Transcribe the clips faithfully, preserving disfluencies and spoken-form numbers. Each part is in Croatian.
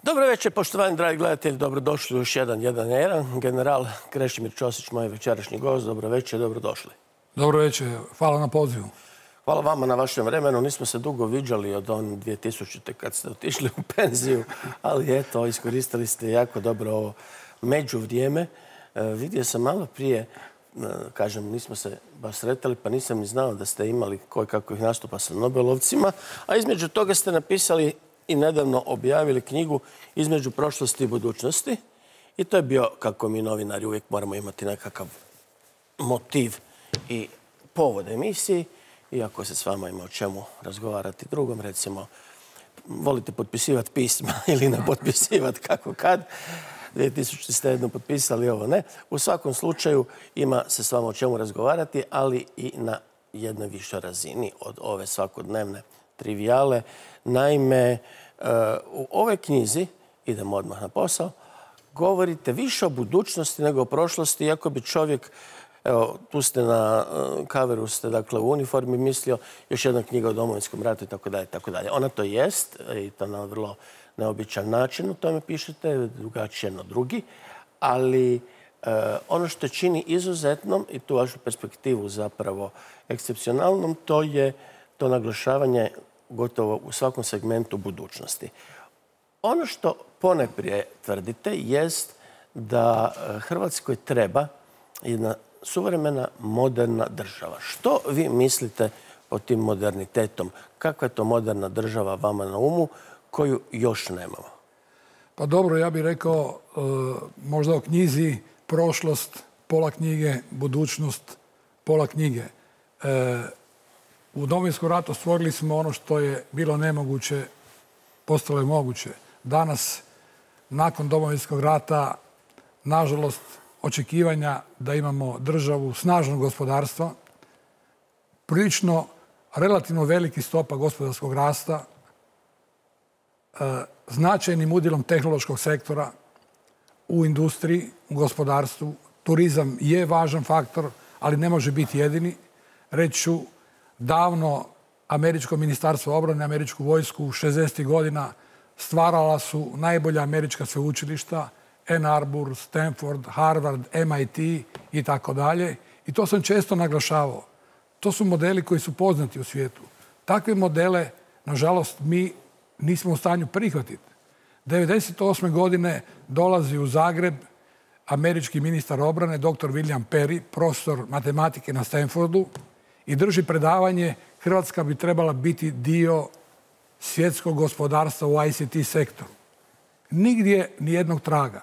Dobro večer, poštovani dragi gledatelji, dobrodošli u još jedan jedan na jedan. General Krešimir Ćosić, moj večerašnji gost. Dobro večer, dobrodošli. Dobro večer, hvala na pozivu. Hvala vama na vašem vremenu. Nismo se dugo viđali od on dvije tisućite kad ste otišli u penziju, ali eto, iskoristili ste jako dobro ovo međuvrijeme. E, vidio sam malo prije, e, kažem, nismo se baš sretali, pa nisam ni znao da ste imali koje kakvih nastupa sa Nobelovcima, a između toga ste napisali i nedavno objavili knjigu Između prošlosti i budućnosti. I to je bio, kako mi novinari uvijek moramo imati nekakav motiv i povod emisiji. Iako se s vama ima o čemu razgovarati drugom, recimo, volite potpisivati pisma ili ne potpisivati kako kad. dvije tisućite ste jedno potpisali, ovo ne. U svakom slučaju ima se s vama o čemu razgovarati, ali i na jednoj višoj razini od ove svakodnevne trivijale. Naime, u ovoj knjizi, idemo odmah na posao, govorite više o budućnosti nego o prošlosti, iako bi čovjek, evo, tu ste na kaveru, ste dakle u uniformi, mislio još jedna knjiga o Domovinskom ratu i tako dalje, tako dalje. Ona to jest, i to na vrlo neobičan način, u tome pišete, drugačije na drugi, ali e, ono što čini izuzetnom i tu vašu perspektivu zapravo ekscepcionalnom, to je to naglašavanje gotovo u svakom segmentu budućnosti. Ono što poneprije tvrdite jest da Hrvatskoj treba jedna suvremena, moderna država. Što vi mislite pod tim modernitetom? Kakva je to moderna država vama na umu koju još nemamo? Pa dobro, ja bih rekao e, možda o knjizi prošlost, pola knjige, budućnost, pola knjige. E, u Domovinskom ratu stvorili smo ono što je bilo nemoguće, postalo je moguće. Danas, nakon Domovinskog rata, nažalost, očekivanja da imamo državu snažnog gospodarstva, prilično relativno veliki stopa gospodarskog rasta, značajnim udjelom tehnološkog sektora u industriji, u gospodarstvu. Turizam je važan faktor, ali ne može biti jedini. Reći ću, davno Američko ministarstvo obrane, američku vojsku u šezdesetih godina stvarala su najbolja američka sveučilišta, Ann Arbor, Stanford, Harvard, M I T i tako dalje. I to sam često naglašavao. To su modeli koji su poznati u svijetu. Takve modele, nažalost, mi nismo u stanju prihvatiti. devedeset osme godine dolazi u Zagreb američki ministar obrane, doktor William Perry, profesor matematike na Stanfordu, i drži predavanje Hrvatska bi trebala biti dio svjetskog gospodarstva u I C T sektoru. Nigdje nijednog traga.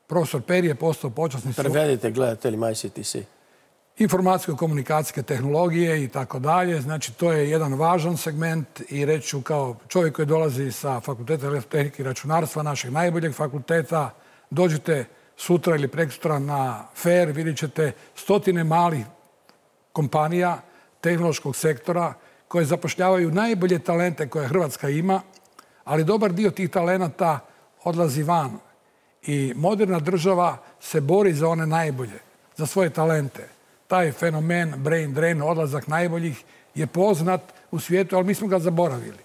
Profesor Perry je postao počasni... Prevedite gledateljima I C T C. Informacijsko-komunikacijske tehnologije i tako dalje. Znači, to je jedan važan segment i reći ću kao čovjek koji dolazi sa Fakulteta elektrotehnike i računarstva, našeg najboljeg fakulteta, dođite sutra ili preksutra na fair, vidjet ćete stotine malih kompanija tehnološkog sektora koje zapošljavaju najbolje talente koje Hrvatska ima, ali dobar dio tih talenata odlazi van. I moderna država se bori za one najbolje, za svoje talente. Taj fenomen brain drain, odlazak najboljih, je poznat u svijetu, ali mi smo ga zaboravili.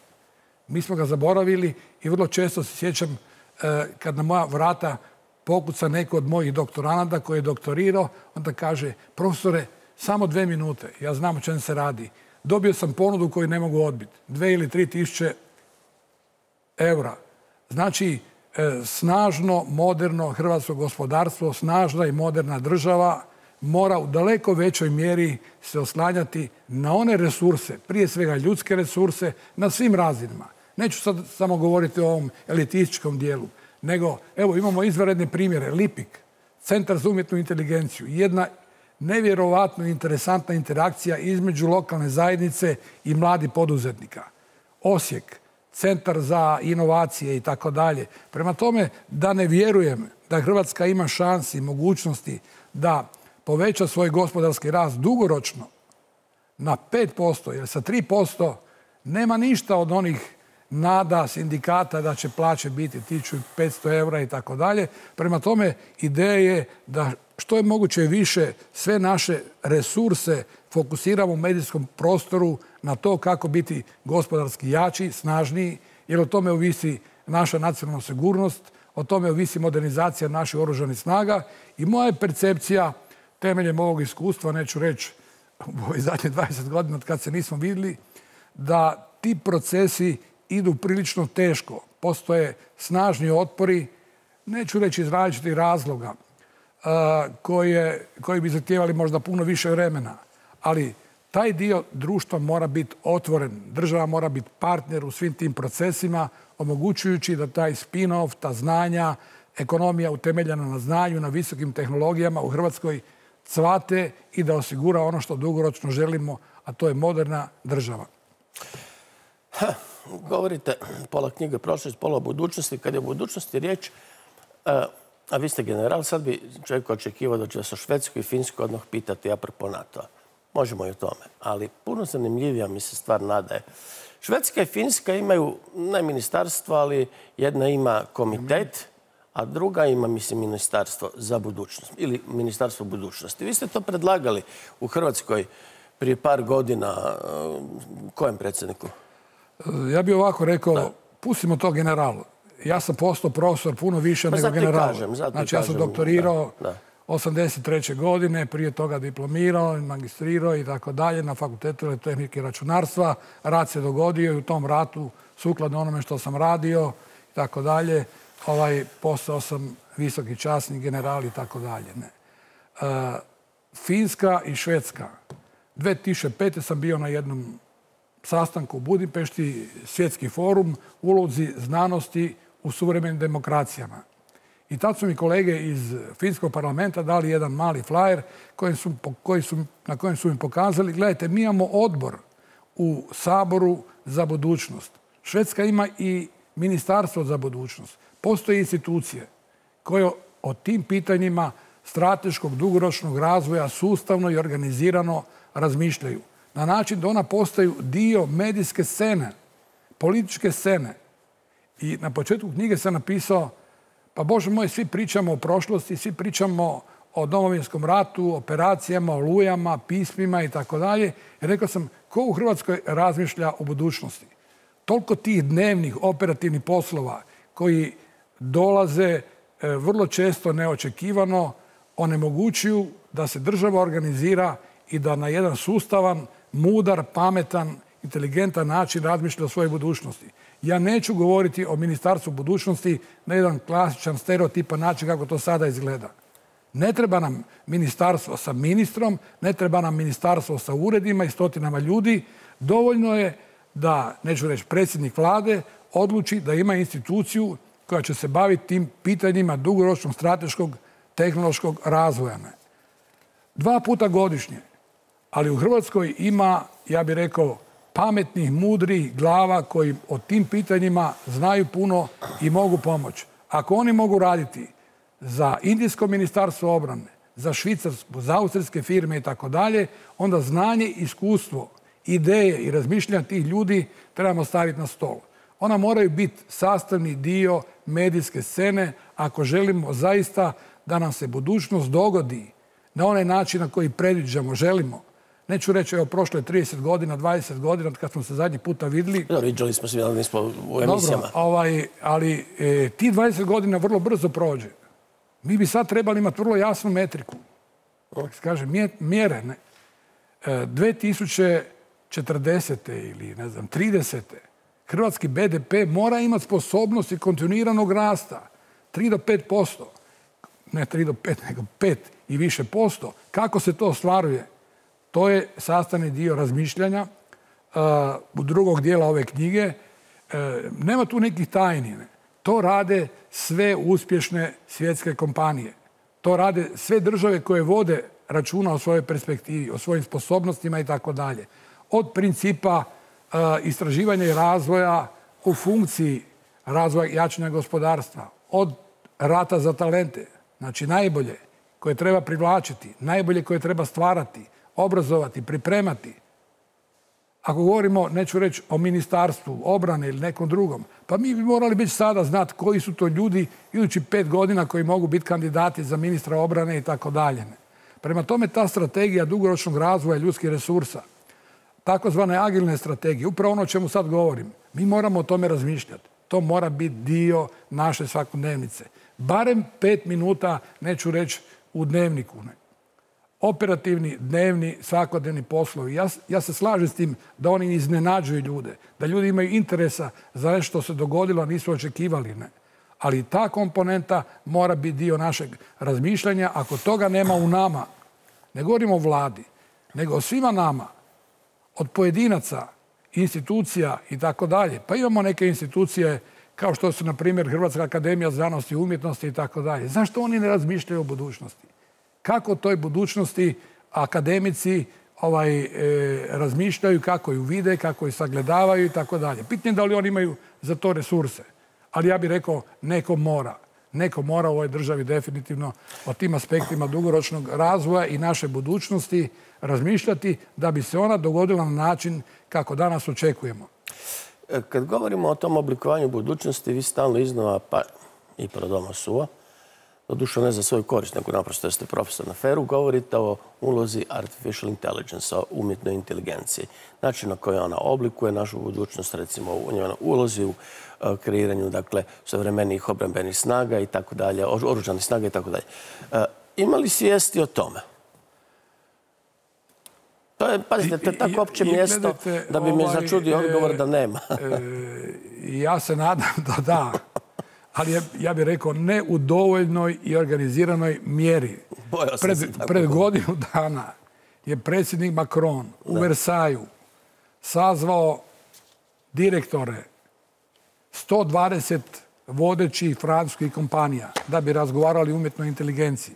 Mi smo ga zaboravili i vrlo često se sjećam eh, kad na moja vrata pokuca neko od mojih doktoranata koji je doktorirao, onda kaže, profesore, samo dve minute, ja znam o čem se radi. Dobio sam ponudu koju ne mogu odbiti. Dve ili tri tisuće eura. Znači, eh, snažno, moderno hrvatsko gospodarstvo, snažna i moderna država mora u daleko većoj mjeri se oslanjati na one resurse, prije svega ljudske resurse, na svim razinama. Neću sad samo govoriti o ovom elitističkom dijelu, nego, evo, imamo izvanredne primjere. Lipik, Centar za umjetnu inteligenciju, jedna nevjerovatno interesantna interakcija između lokalne zajednice i mladih poduzetnika. Osijek, Centar za inovacije i tako dalje. Prema tome, da ne vjerujem da Hrvatska ima šansi i mogućnosti da poveća svoj gospodarski rast dugoročno na pet posto, jer sa tri posto nema ništa od onih nada sindikata da će plaće biti tisuću petsto eura i tako dalje. Prema tome, ideja je da što je moguće više sve naše resurse fokusiramo u medijskom prostoru na to kako biti gospodarski jači, snažniji, jer o tome ovisi naša nacionalna sigurnost, o tome ovisi modernizacija naših oružanih snaga i moja je percepcija, temeljem ovog iskustva, neću reći u ovih zadnjih dvadeset godina od kad se nismo vidjeli, da ti procesi idu prilično teško. Postoje snažni otpori, neću reći iz različitih razloga, koje, koji bi zahtijevali možda puno više vremena. Ali taj dio društva mora biti otvoren. Država mora biti partner u svim tim procesima, omogućujući da taj spin-off, ta znanja, ekonomija utemeljena na znanju, na visokim tehnologijama u Hrvatskoj cvate i da osigura ono što dugoročno želimo, a to je moderna država. Ha, govorite pola knjige prošlosti, pola budućnosti. Kad je o budućnosti riječ, a, a vi ste general, sad bi čovjek očekivao da će vas o Švedsku i Finsku odmah pitati apropo NATO-a. Možemo i o tome, ali puno zanimljivija mi se stvar nadaje. Švedska i Finska imaju, ne ministarstvo, ali jedna ima komitet, a druga ima, mislim, ministarstvo za budućnost ili ministarstvo budućnosti. Vi ste to predlagali u Hrvatskoj prije par godina. Kojem predsjedniku? Ja bih ovako rekao, da. Pustimo to generalu. Ja sam postao profesor puno više pa nego general. Kažem, znači, ja sam doktorirao da, da. osamdeset treće godine, prije toga diplomirao, magistrirao i tako dalje na Fakultetu elektrotehnike i računarstva. Rat se dogodio i u tom ratu, sukladno onome što sam radio i tako dalje, ovaj, postao sam visoki časnik, general i tako dalje. Ne. Uh, Finska i Švedska. dvije tisuće pete sam bio na jednom sastanku u Budimpešti, svjetski forum, ulozi znanosti u suvremenim demokracijama. I tad su mi kolege iz Finskog parlamenta dali jedan mali flajer koji su, koji su, na kojem su mi pokazali, gledajte, mi imamo odbor u Saboru za budućnost. Švedska ima i ministarstvo za budućnost. Postoje institucije koje o tim pitanjima strateškog dugoročnog razvoja sustavno i organizirano razmišljaju. Na način da ona postaju dio medijske scene, političke scene. I na početku knjige sam napisao, pa Bože moj, svi pričamo o prošlosti, svi pričamo o Domovinskom ratu, operacijama, olujama, pismima i tako dalje. I rekao sam, ko u Hrvatskoj razmišlja o budućnosti? Toliko tih dnevnih operativnih poslova koji dolaze vrlo često neočekivano, onemogućuju da se država organizira i da na jedan sustavan, mudar, pametan, inteligentan način razmišlja o svojoj budućnosti. Ja neću govoriti o ministarstvu budućnosti na jedan klasičan, stereotipan način kako to sada izgleda. Ne treba nam ministarstvo sa ministrom, ne treba nam ministarstvo sa uredima i stotinama ljudi. Dovoljno je da, neću reći, predsjednik vlade odluči da ima instituciju koja će se baviti tim pitanjima dugoročnog strateškog tehnološkog razvoja. Dva puta godišnje. Ali u Hrvatskoj ima, ja bih rekao, pametnih, mudrih glava koji o tim pitanjima znaju puno i mogu pomoći. Ako oni mogu raditi za Indijsko ministarstvo obrane, za švicarsku, za austrijske firme i tako dalje, onda znanje, iskustvo, ideje i razmišljanja tih ljudi trebamo staviti na stol. Ona moraju biti sastavni dio medijske scene ako želimo zaista da nam se budućnost dogodi na onaj način na koji predviđamo, želimo. Neću reći, evo, prošlo je trideset godina, dvadeset godina, kad smo se zadnji puta vidjeli. Dobro, viđali smo se, ali nismo u emisijama. Dobro, ovaj, ali e, ti dvadeset godina vrlo brzo prođe. Mi bi sad trebali imati vrlo jasnu metriku. Kaže, mjere, ne. E, dvije tisuće četrdesete ili, ne znam, tridesete hrvatski be de pe mora imati sposobnost i kontinuiranog rasta. tri do pet posto. Ne tri do pet, nego pet i više posto. Kako se to ostvaruje? To je sastavni dio razmišljanja uh, u drugog dijela ove knjige. Uh, nema tu nekih tajni. Ne? To rade sve uspješne svjetske kompanije. To rade sve države koje vode računa o svojoj perspektivi, o svojim sposobnostima i tako dalje. Od principa uh, istraživanja i razvoja u funkciji razvoja i jačanja gospodarstva. Od rata za talente. Znači najbolje koje treba privlačiti, najbolje koje treba stvarati, obrazovati, pripremati. Ako govorimo, neću reći o ministarstvu obrane ili nekom drugom, pa mi bi morali već sada znati koji su to ljudi idući pet godina koji mogu biti kandidati za ministra obrane i tako dalje. Prema tome, ta strategija dugoročnog razvoja ljudskih resursa, takozvane agilne strategije, upravo ono o čemu sad govorim, mi moramo o tome razmišljati. To mora biti dio naše svakodnevnice. Barem pet minuta, neću reći u dnevniku. Ne. Operativni, dnevni, svakodnevni poslovi. Ja, ja se slažem s tim da oni iznenađuju ljude. Da ljudi imaju interesa za nešto što se dogodilo, a nisu očekivali. Ne. Ali ta komponenta mora biti dio našeg razmišljanja. Ako toga nema u nama, ne govorimo o vladi, nego o svima nama, od pojedinaca, institucija i tako dalje. Pa imamo neke institucije kao što su, na primjer, Hrvatska akademija znanosti i umjetnosti i tako dalje. Zašto oni ne razmišljaju o budućnosti? Kako toj budućnosti akademici ovaj, e, razmišljaju, kako ju vide, kako ju sagledavaju i tako dalje. Pitanje da li oni imaju za to resurse. Ali ja bih rekao, neko mora. Neko mora u ovoj državi definitivno o tim aspektima dugoročnog razvoja i naše budućnosti razmišljati da bi se ona dogodila na način kako danas očekujemo. Kad govorimo o tom oblikovanju budućnosti, vi stalno iznova, pa i prodoma suva, doduše ne za svoju korist, nego naprosto jer ste profesor na feru, govorite o ulozi artificial intelligence, o umjetnoj inteligenciji. Način na koji ona oblikuje našu budućnost, recimo u njenoj ulozi u kreiranju, dakle, savremenijih obrambenih snaga i tako dalje, oružanih snaga i tako dalje. Ima li svijesti o tome? To je, pazite, to je tako opće mjesto da bi me začudio odgovor da nema. Ja se nadam da da. Ali ja bih rekao ne u dovoljnoj i organiziranoj mjeri. Pred, pred godinu dana je predsjednik Macron u Versaju sazvao direktore sto dvadeset vodećih francuskih kompanija da bi razgovarali o umjetnoj inteligenciji.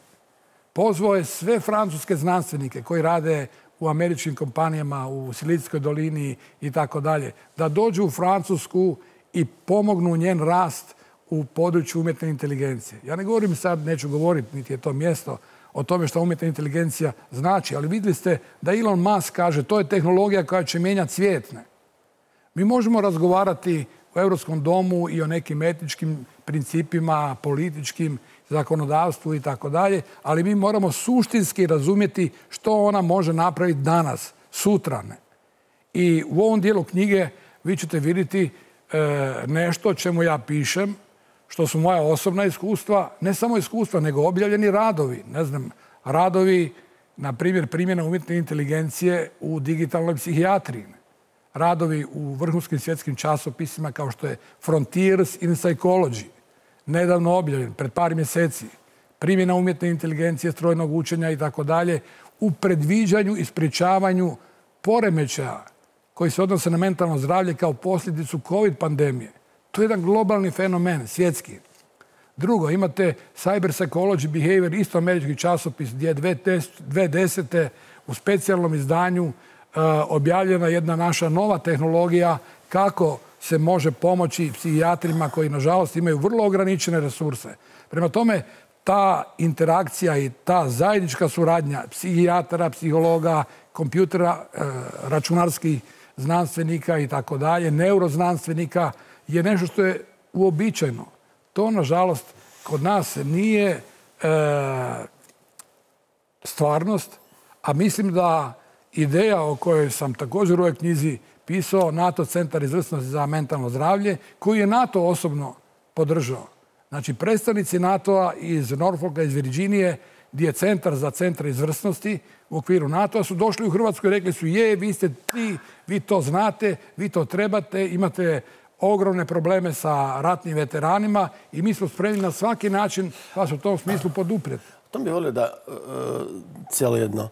Pozvao je sve francuske znanstvenike koji rade u američkim kompanijama, u Silicijskoj dolini i tako dalje, da dođu u Francusku i pomognu njen rast u području umjetne inteligencije. Ja ne govorim sad, neću govoriti, niti je to mjesto, o tome što umjetna inteligencija znači, ali vidjeli ste da Elon Musk kaže to je tehnologija koja će mijenjati svijet. Mi možemo razgovarati u Europskom domu i o nekim etičkim principima, političkim, zakonodavstvu i tako dalje, ali mi moramo suštinski razumjeti što ona može napraviti danas, sutra. Ne. I u ovom dijelu knjige vi ćete vidjeti e, nešto čemu ja pišem, što su moja osobna iskustva, ne samo iskustva, nego objavljeni radovi. Ne znam, radovi, na primjer, primjena umjetne inteligencije u digitalnoj psihijatriji. Radovi u vrhunskim svjetskim časopisima kao što je Frontiers in Psychology, nedavno objavljen, pred par mjeseci. Primjena umjetne inteligencije, strojnog učenja i tako dalje u predviđanju i sprječavanju poremećaja koji se odnose na mentalno zdravlje kao posljedicu COVID pandemije. To je jedan globalni fenomen, svjetski. Drugo, imate Cyber Psychology Behavior, isto američki časopis gdje je dvije tisuće desete u specijalnom izdanju uh, objavljena jedna naša nova tehnologija kako se može pomoći psihijatrima koji, nažalost, imaju vrlo ograničene resurse. Prema tome, ta interakcija i ta zajednička suradnja psihijatara, psihologa, kompjutera, uh, računarskih znanstvenika i tako dalje, neuroznanstvenika, je nešto što je uobičajeno. To, nažalost, kod nas nije e, stvarnost, a mislim da ideja o kojoj sam također u ovoj knjizi pisao, NATO centar izvrsnosti za mentalno zdravlje, koji je NATO osobno podržao. Znači, predstavnici NATO-a iz Norfolka, iz Virginije, gdje je centar za centar izvrsnosti u okviru NATO-a, su došli u Hrvatsku i rekli su je, vi ste ti, vi to znate, vi to trebate, imate ogromne probleme sa ratnim veteranima i mi smo spremni na svaki način vas u tom smislu poduprijeti. To bih volio da uh, cijelo jedno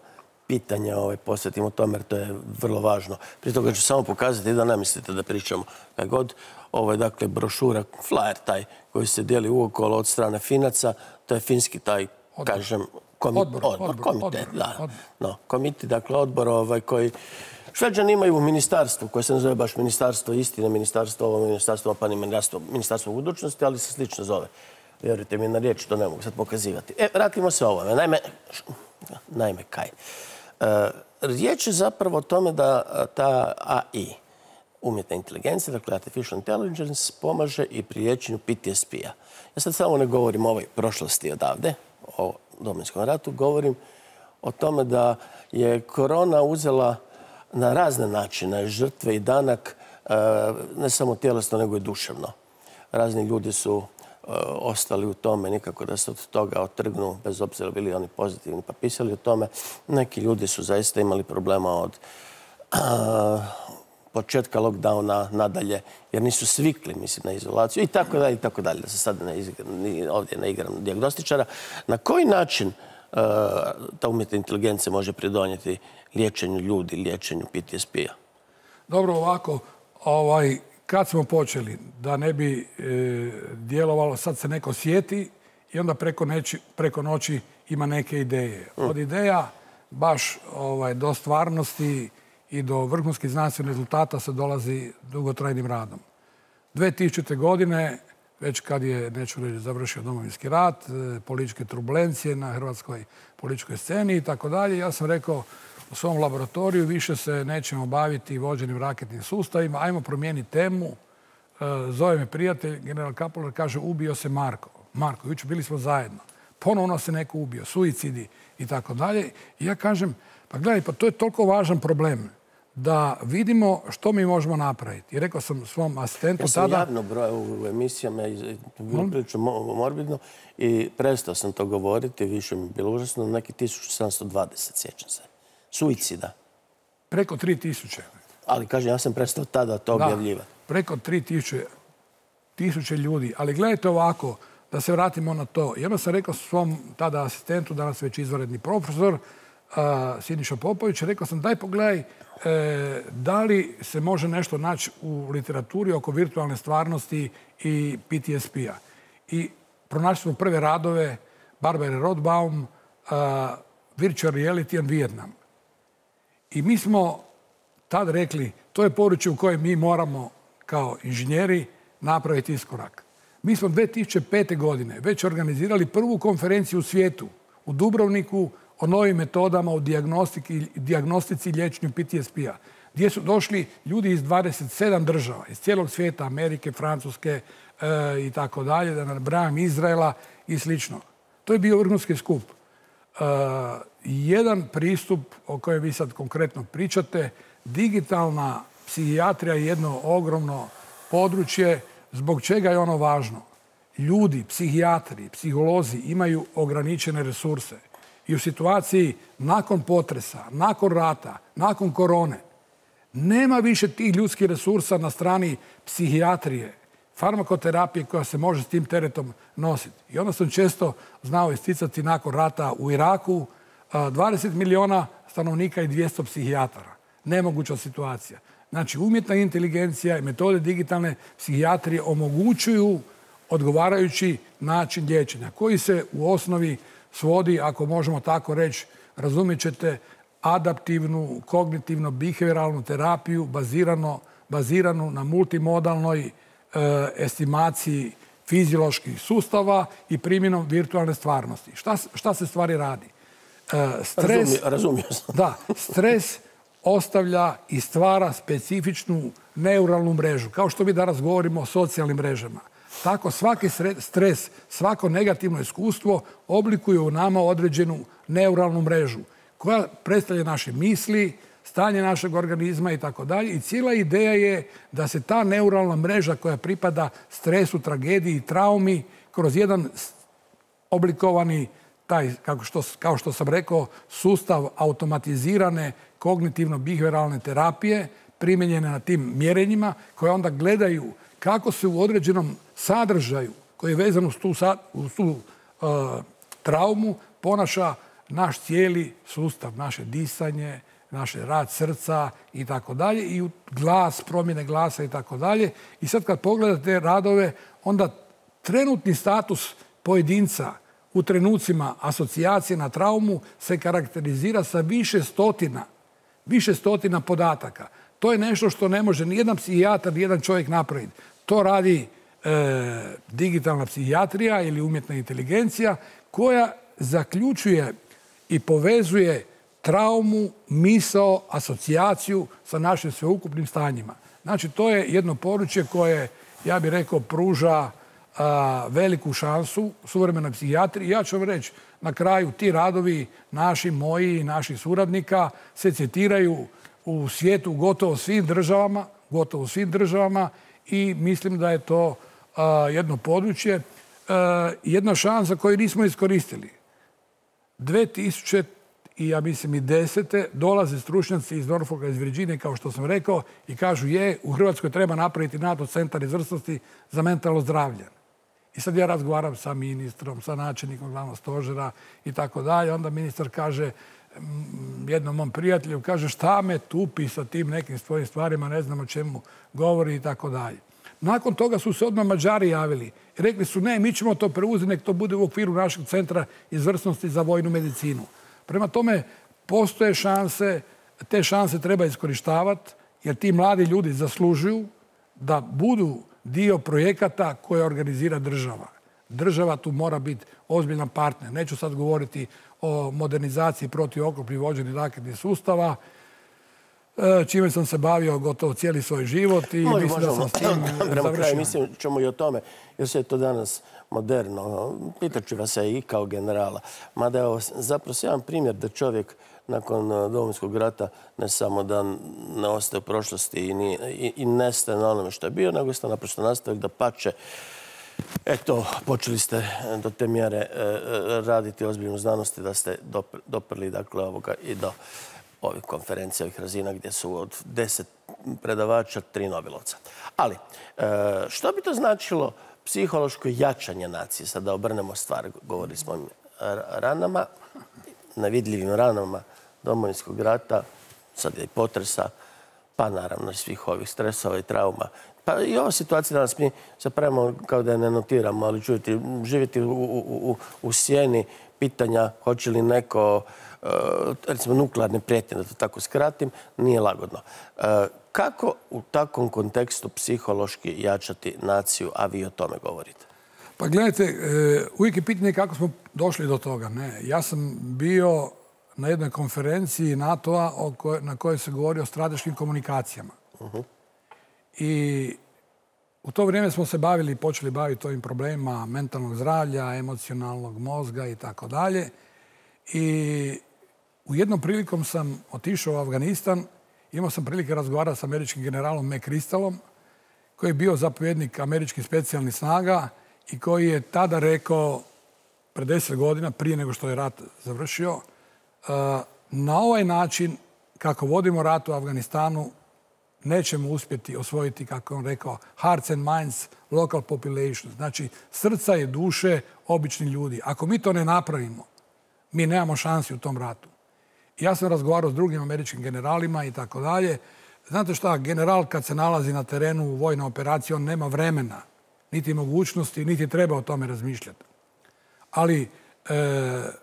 pitanje ovaj, posvetimo tome, jer to je vrlo važno. Prije toga ću samo pokazati da ne mislite da pričamo kaj god. Ovo je dakle brošura, flyer taj koji se dijeli uokolo od strane Finaca. To je finski taj, odbor. kažem, komi odbor, odbor, odbor, komitet. odbor, da. odbor. No, komiti, dakle odbor ovaj, koji Šveđani imaju u ministarstvu, koje se ne zove baš ministarstvo istine, ministarstvo ovo, ministarstvo pa ni ministarstvo, ministarstvo budućnosti, ali se slično zove. Vjerujte mi na riječ, to ne mogu sad pokazivati. E, vratimo se ovome. Naime, naime kaj? E, riječ je zapravo o tome da ta A I, umjetna inteligencija, dakle artificial intelligence, pomaže i pri liječenju P T S P-a. Ja sad samo ne govorim o ovoj prošlosti odavde, o Domovinskom ratu, govorim o tome da je korona uzela na razne načine žrtve i danak, ne samo tjelesno, nego i duševno. razni ljudi su ostali u tome, nikako da se od toga otrgnu, bez obzira bili oni pozitivni, pa pisali o tome. Neki ljudi su zaista imali problema od početka lockdowna nadalje, jer nisu svikli, mislim, na izolaciju i tako dalje, i tako dalje, da se sad ovdje ne igram dijagnostičara. Na koji način ta umjetna inteligencija može pridonijeti liječenju ljudi, liječenju P T S P-a? Dobro, ovako, kad smo počeli, da ne bi djelovalo, sad se neko sjeti i onda preko noći ima neke ideje. Od ideja baš do stvarnosti i do vrhunskih znanstvenih rezultata se dolazi dugotrajnim radom. dvije tisućite. godine, već kad je, neću reći, završio Domovinski rat, političke turbulencije na hrvatskoj političkoj sceni i tako dalje, ja sam rekao u svom laboratoriju više se nećemo baviti vođenim raketnim sustavima, ajmo promijeniti temu. Zove me prijatelj, general Kapular, kaže ubio se Marko. Marko, jučer bili smo zajedno. Ponovno se neko ubio, suicidi i tako dalje. I ja kažem, pa gledaj, pa to je toliko važan problem da vidimo što mi možemo napraviti. I rekao sam svom asistentu tada... Ja sam javno brojao u emisijama, bilo prilično morbidno, i prestao sam to govoriti, više mi je bilo užasno, neki tisuću sedamsto dvadeset, sjećam se. Suicida. Preko tri tisuće. Ali, kažem, ja sam prestao tada to objavljivati. Preko tri tisuće ljudi. Ali gledajte ovako, da se vratimo na to. I onda sam rekao svom tada asistentu, danas već izvanredni profesor, Siniša Popović, rekao sam daj pogledaj da li se može nešto naći u literaturi oko virtualne stvarnosti i P T S P-a. I pronašli smo prve radove Barbara Rothbaum, Virtual Reality and Vietnam. I mi smo tad rekli, to je područje u kojem mi moramo kao inženjeri napraviti iskorak. Mi smo dvije tisuće pete. godine već organizirali prvu konferenciju u svijetu, u Dubrovniku, o novim metodama u dijagnostici i liječenju P T S P-a, gdje su došli ljudi iz dvadeset sedam država, iz cijelog svijeta, Amerike, Francuske i tako dalje, da nabrajam, Izraela i slično. To je bio vrhunski skup. Jedan pristup o kojem vi sad konkretno pričate, digitalna psihijatrija je jedno ogromno područje. Zbog čega je ono važno? Ljudi, psihijatri, psiholozi imaju ograničene resurse. I u situaciji nakon potresa, nakon rata, nakon korone, nema više tih ljudskih resursa na strani psihijatrije, farmakoterapije koja se može s tim teretom nositi. I onda sam često znao isticati nakon rata u Iraku dvadeset milijuna stanovnika i dvjesto psihijatara. Nemoguća situacija. Znači, umjetna inteligencija i metode digitalne psihijatrije omogućuju odgovarajući način liječenja, koji se u osnovi svodi, ako možemo tako reći, razumjet ćete, adaptivnu, kognitivno-behavioralnu terapiju baziranu na multimodalnoj estimaciji fizioloških sustava i primjenom virtualne stvarnosti. Šta se stvari radi? Razumio sam. Da, stres ostavlja i stvara specifičnu neuralnu mrežu. Kao što mi danas govorimo o socijalnim mrežama. Tako svaki stres, svako negativno iskustvo oblikuje u nama određenu neuralnu mrežu koja predstavlja naše misli, stanje našeg organizma i tako dalje. I cijela ideja je da se ta neuralna mreža koja pripada stresu, tragediji i traumi kroz jedan oblikovani taj, kao što sam rekao, sustav automatizirane kognitivno-behavioralne terapije primijenjene na tim mjerenjima koje onda gledaju kako se u određenom sadržaju koji je vezan uz tu, uz tu uh, traumu ponaša naš cijeli sustav, naše disanje, naš rad srca i tako dalje i glas, promjene glasa i tako dalje. I sad kad pogledate radove, onda trenutni status pojedinca u trenucima asocijacije na traumu se karakterizira sa više stotina, više stotina podataka. To je nešto što ne može ni jedan psihijatar, ni jedan čovjek napraviti. To radi e, digitalna psihijatrija ili umjetna inteligencija koja zaključuje i povezuje traumu, misao, asocijaciju sa našim sveukupnim stanjima. Znači, to je jedno područje koje, ja bih rekao, pruža a, veliku šansu suvremenoj psihijatriji. Ja ću vam reći, na kraju ti radovi naši, moji i naših suradnika se citiraju u svijetu gotovo svim državama, gotovo svim državama i mislim da je to jedno područje, jedna šansa koju nismo iskoristili. dve tisuće i ja mislim i desete dolaze stručnjaci iz Norfolka, iz Virginije, kao što sam rekao, i kažu je, u Hrvatskoj treba napraviti NATO centar izvrsnosti za mentalno zdravlje. I sad ja razgovaram sa ministrom, sa načelnikom glavnog stožera i tako dalje. Onda ministar kaže jednom mom prijatelju, kaže šta me tupi sa tim nekim svojim stvarima, ne znam o čemu govori i tako dalje. Nakon toga su se odmah Mađari javili i rekli su ne, mi ćemo to preuzeti, nek to bude u okviru našeg centra izvrsnosti za vojnu medicinu. Prema tome, postoje šanse, te šanse treba iskorištavati, jer ti mladi ljudi zaslužuju da budu dio projekata koje organizira država. Država tu mora biti ozbiljan partner. Neću sad govoriti o modernizaciji protivoklopnih vođenih raketnih sustava, čime sam se bavio gotovo cijeli svoj život i mislim da sam s tim završio. Mislim ćemo i o tome, jer se je to danas moderno. Pitaću vas i kao generala. Mada je ovo zapravo jedan primjer da čovjek nakon Domovinskog rata ne samo da ne ostaje u prošlosti i nestaje na onome što je bio, nego ste naprosto nastavili da pače. Eto, počeli ste do te mjere raditi ozbiljnu znanosti da ste doprli ovoga i do ovih konferencija, ovih razina gdje su od deset predavača tri Nobelovca. Ali, što bi to značilo psihološko jačanje nacije? Sad da obrnemo stvar, govorili smo o ranama, nevidljivim ranama Domovinskog rata, sad je i potresa, pa naravno i svih ovih stresova i trauma. Pa i ova situacija danas mi zapravo kao da je ne notiramo, ali čujete, živjeti u sjeni pitanja hoće li neko, recimo nuklearne prijetnje, da to tako skratim, nije lagodno. Kako u takvom kontekstu psihološki jačati naciju, a vi o tome govorite? Pa gledajte, uvijek je pitanje kako smo došli do toga. Ja sam bio na jednoj konferenciji NATO-a na kojoj se govori o strateškim komunikacijama. I u to vrijeme smo se bavili, počeli baviti ovim problemima mentalnog zdravlja, emocionalnog mozga i tako dalje. I u jednom prilikom sam otišao u Afganistan, imao sam prilike razgovarati s američkim generalom McChrystalom, koji je bio zapovjednik američkih specijalnih snaga i koji je tada rekao, pred deset godina, prije nego što je rat završio, na ovaj način, kako vodimo rat u Afganistanu, nećemo uspjeti osvojiti, kako je on rekao, hearts and minds, local population. Znači, srca i duše obični ljudi. Ako mi to ne napravimo, mi nemamo šansi u tom ratu. Ja sam razgovarao s drugim američkim generalima i tako dalje. Znate šta, general kad se nalazi na terenu u vojnoj operaciji, on nema vremena, niti mogućnosti, niti treba o tome razmišljati. Ali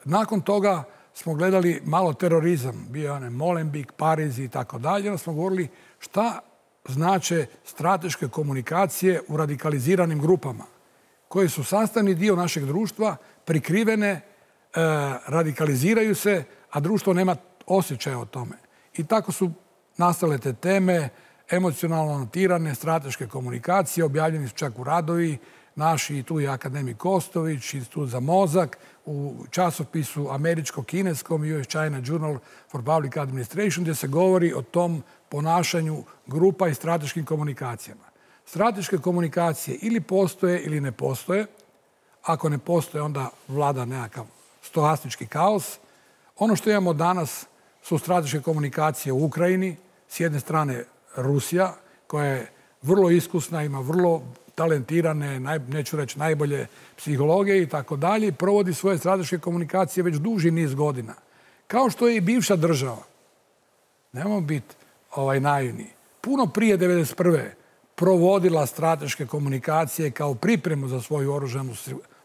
nakon toga smo gledali malo terorizam. Bio je onaj Molenbeek, Pariz i tako dalje. Onda smo govorili šta znače strateške komunikacije u radikaliziranim grupama koje su sastavni dio našeg društva, prikrivene, radikaliziraju se, a društvo nema osjećaja o tome. I tako su nastale te teme, emocionalno notirane strateške komunikacije, objavljeni su čak u radovi, naši i tu je akademik Kostović, Institut za mozak, u časopisu američko-kineskom U S China Journal for Public Administration, gdje se govori o tom ponašanju grupa i strateškim komunikacijama. Strateške komunikacije ili postoje ili ne postoje. Ako ne postoje, onda vlada nekakav stohastički kaos. Ono što imamo danas su strateške komunikacije u Ukrajini. S jedne strane Rusija, koja je vrlo iskusna, ima vrlo talentirane, neću reći najbolje psihologe i tako dalje, provodi svoje strateške komunikacije već duži niz godina. Kao što je i bivša država. Nemamo biti naivni. Puno prije devedeset prve provodila strateške komunikacije kao pripremu za svoju oružanu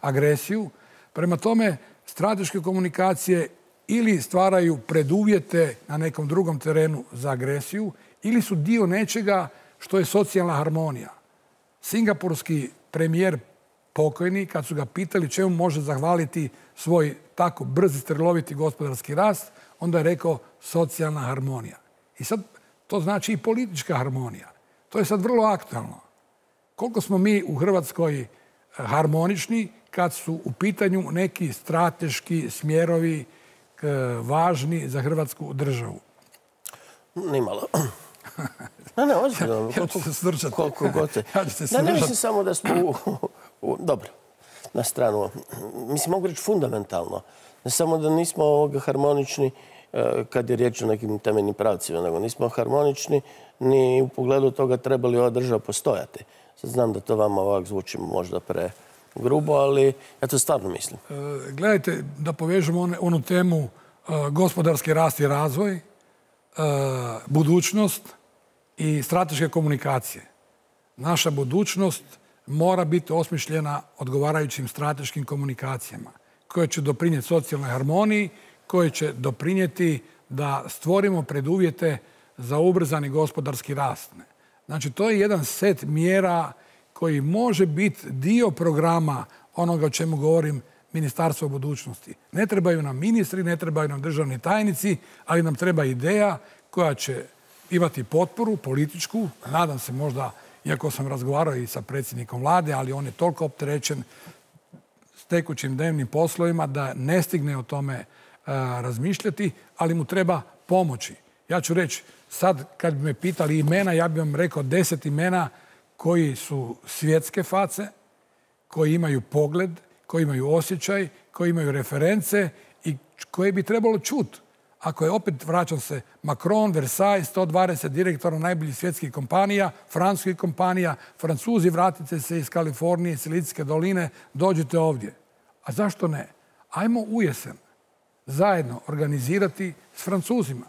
agresiju. Prema tome, strateške komunikacije ili stvaraju preduvjete na nekom drugom terenu za agresiju ili su dio nečega što je socijalna harmonija. Singapurski premijer pokojni, kad su ga pitali čemu može zahvaliti svoj tako brzi, streloviti gospodarski rast, onda je rekao socijalna harmonija. I sad to znači i politička harmonija. To je sad vrlo aktualno. Koliko smo mi u Hrvatskoj harmonični kad su u pitanju neki strateški smjerovi važni za Hrvatsku državu? Nimalo. Ne, ne, ozbiljno. Ja ću se svrčati. Koliko god se. Ja ću se Ne, svrčati. ne mislim samo da smo u, u, dobro, na stranu. Mislim, mogu reći fundamentalno. Ne samo da nismo ovoga harmonični kad je riječ o nekim temeljnim pravcima, nego nismo harmonični ni u pogledu toga treba li ova država postojati. Sad znam da to vama ovak zvuči možda pre grubo, ali ja to stvarno mislim. E, gledajte, da povežemo onu, onu temu e, gospodarski rast i razvoj, e, budućnost i strateške komunikacije. Naša budućnost mora biti osmišljena odgovarajućim strateškim komunikacijama koje će doprinijeti socijalnoj harmoniji, koje će doprinijeti da stvorimo preduvjete za ubrzani gospodarski rast. Znači, to je jedan set mjera koji može biti dio programa onoga o čemu govorim Ministarstvo budućnosti. Ne trebaju nam ministri, ne trebaju nam državni tajnici, ali nam treba ideja koja će imati potporu političku. Nadam se možda, iako sam razgovarao i sa predsjednikom vlade, ali on je toliko opterećen s tekućim dnevnim poslovima da ne stigne o tome razmišljati, ali mu treba pomoći. Ja ću reći, sad kad bi me pitali imena, ja bih vam rekao deset imena koji su svjetske face, koji imaju pogled, koji imaju osjećaj, koji imaju reference i koje bi trebalo čuti. Ako je opet, vraćam se, Macron, Versailles, sto dvadeset direktora najboljih svjetskih kompanija, francuskih kompanija, Francuzi, vratite se iz Kalifornije, Silicijske doline, dođite ovdje. A zašto ne? Ajmo u jesen zajedno organizirati s Francuzima.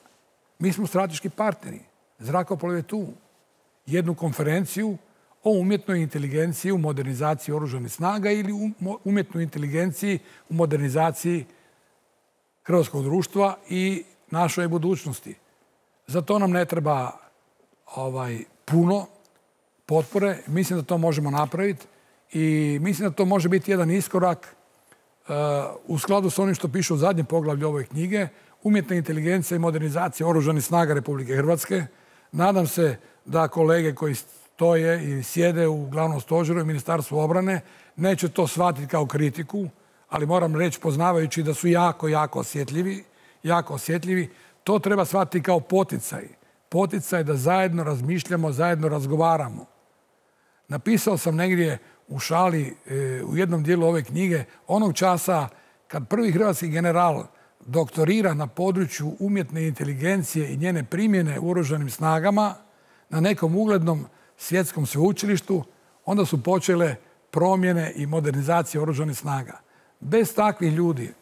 Mi smo strateški partneri. Zrakoplov je tu. Jednu konferenciju o umjetnoj inteligenciji u modernizaciji oružanih snaga ili umjetnoj inteligenciji u modernizaciji hrvatskog društva i našoj budućnosti. Za to nam ne treba ovaj, puno potpore. Mislim da to možemo napraviti i mislim da to može biti jedan iskorak uh, u skladu s onim što piše u zadnjem poglavlju ove knjige, umjetna inteligencija i modernizacija oružanih snaga Republike Hrvatske. Nadam se da kolege koji stoje i sjede u glavnom stožeru i Ministarstvu obrane neće to shvatiti kao kritiku, ali moram reći, poznavajući da su jako, jako osjetljivi, jako osjetljivi, to treba shvatiti kao poticaj. Poticaj da zajedno razmišljamo, zajedno razgovaramo. Napisao sam negdje u šali, u jednom dijelu ove knjige, onog časa kad prvi hrvatski general doktorira na području umjetne inteligencije i njene primjene u oružanim snagama na nekom uglednom svjetskom sveučilištu, onda su počele promjene i modernizacije oružanih snaga. Bez takvih ljudi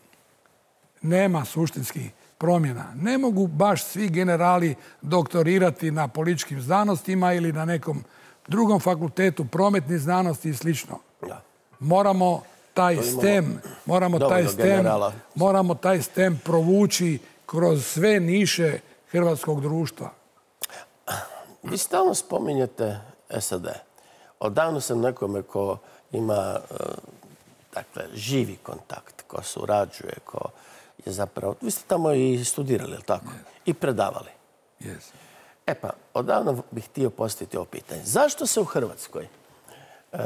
nema suštinskih promjena. Ne mogu baš svi generali doktorirati na političkim znanostima ili na nekom drugom fakultetu prometnih znanosti i slično. Moramo taj STEM, moramo taj STEM, moramo taj STEM provući kroz sve niše hrvatskog društva. Vi stalno spominjete S A D. Odavno sam nekome ko ima dakle, živi kontakt, ko surađuje, ko je zapravo... Vi ste tamo i studirali, je li tako? Yes. I predavali. Yes. E pa, odavno bih htio postaviti ovo pitanje. Zašto se u Hrvatskoj uh,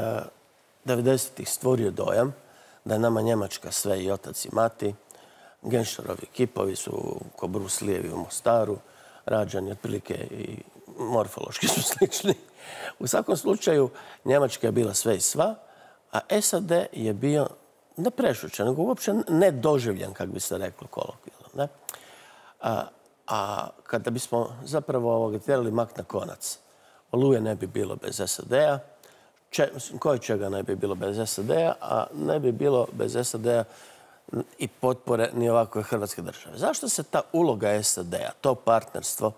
devedesetih stvorio dojam da je nama Njemačka sve i otac i mati, Genšerovi kipovi su ko Bruce Lee u Mostaru, rađani otprilike i morfološki su slični. U svakom slučaju, Njemačka je bila sve i sva, a S A D je bio ne prešućen, nego uopće nedoživljen, kako bi se reklo kolokvijalno. A, a kada bismo zapravo ovoga tjerali mak na konac, Oluje ne bi bilo bez S A D-a, koje čega ne bi bilo bez S A D-a, a ne bi bilo bez S A D-a i potpore ni ovakve Hrvatske države. Zašto se ta uloga S A D-a, to partnerstvo